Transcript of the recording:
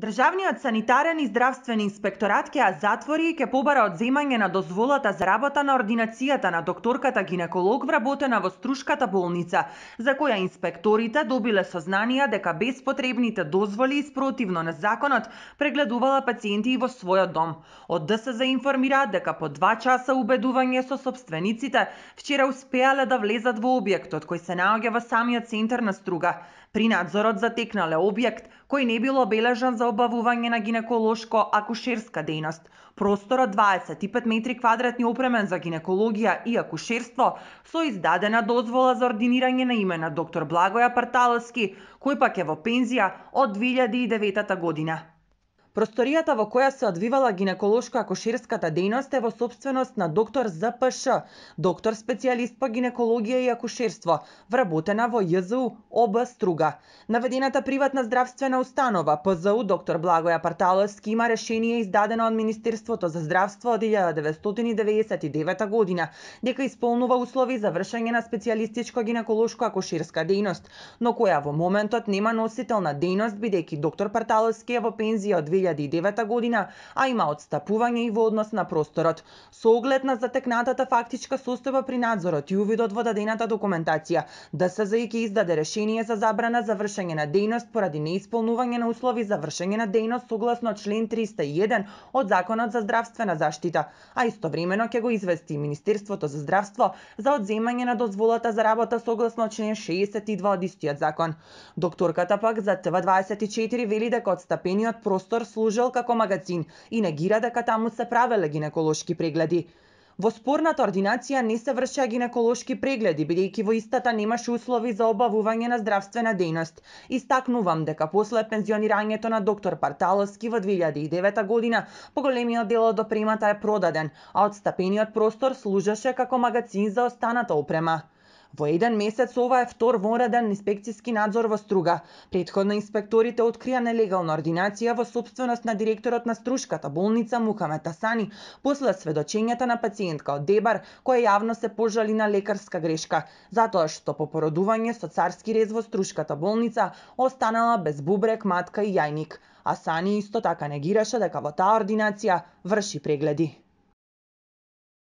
Државниот санитарен и здравствен инспекторат ќе ја затвори и ќе побара одземање на дозволата за работа на ординацијата на докторката гинеколог вработена во Струшката болница, за која инспекторите добиле сознанија дека без потребните дозволи и спротивно на законот прегледувала пациенти и во својот дом. Од ДСЗ информираат дека по 2 часа убедување со сопствениците вчера успеале да влезат во објектот кој се наоѓа во самиот центар на Струга. При надзорот затекнале објект кој не бил обележан за обавување на гинеколошко-акушерска дејност. Просторот 25 метри квадратни опремен за гинекологија и акушерство со издадена дозвола за ординирање на име на доктор Благоја Парталовски, кој пак е во пензија од 2009 година. Просторијата во која се одвивала гинеколошко-акушерската дејност е во сопственост на доктор ЗПШ, доктор специјалист по гинекологија и акушерство, вработена во ЈЗУ ОБ Струга. Наведената приватна здравствена установа ПЗУ доктор Благоја Парталовски има решение издадено од Министерството за здравство од 1999 година дека исполнува услови за вршење на специјалистичко гинеколошко-акушерска дејност, но која во моментот нема носител на дејност бидејќи доктор Парталовски е во пензија од 2009 година, а има отстапување и во однос на просторот. Со оглед на затекнатата фактичка состојба при надзорот и увидот во дадената документација, ДСЗ ќе издаде решение за забрана за вршење на дејност поради неисполнување на услови за вршење на дејност согласно член 301 од Законот за здравствена заштита, а истовремено ќе го извести Министерството за здравство за одземање на дозволата за работа согласно член 62 од истиот закон. Докторката пак за ТВ24 вели дека отстапениот простор служел како магазин и негира дека таму се правеле гинеколошки прегледи. Во спорната ординација не се вршеа гинеколошки прегледи, бидејќи во истата немаше услови за обавување на здравствена дејност. Истакнувам дека после пензионирањето на доктор Парталовски во 2009 година, поголемиот дел од опремата е продаден, а отстапениот простор служеше како магазин за останата опрема. Во еден месец ова е втор вонреден инспекцијски надзор во Струга. Претходно инспекторите открија нелегална ординација во сопственост на директорот на Струшката болница Мухамед Асани после сведочењата на пациентка од Дебар која јавно се пожали на лекарска грешка, затоа што по породување со царски рез во Струшката болница останала без бубрек, матка и јајник. Асани исто така негираше дека во таа ординација врши прегледи.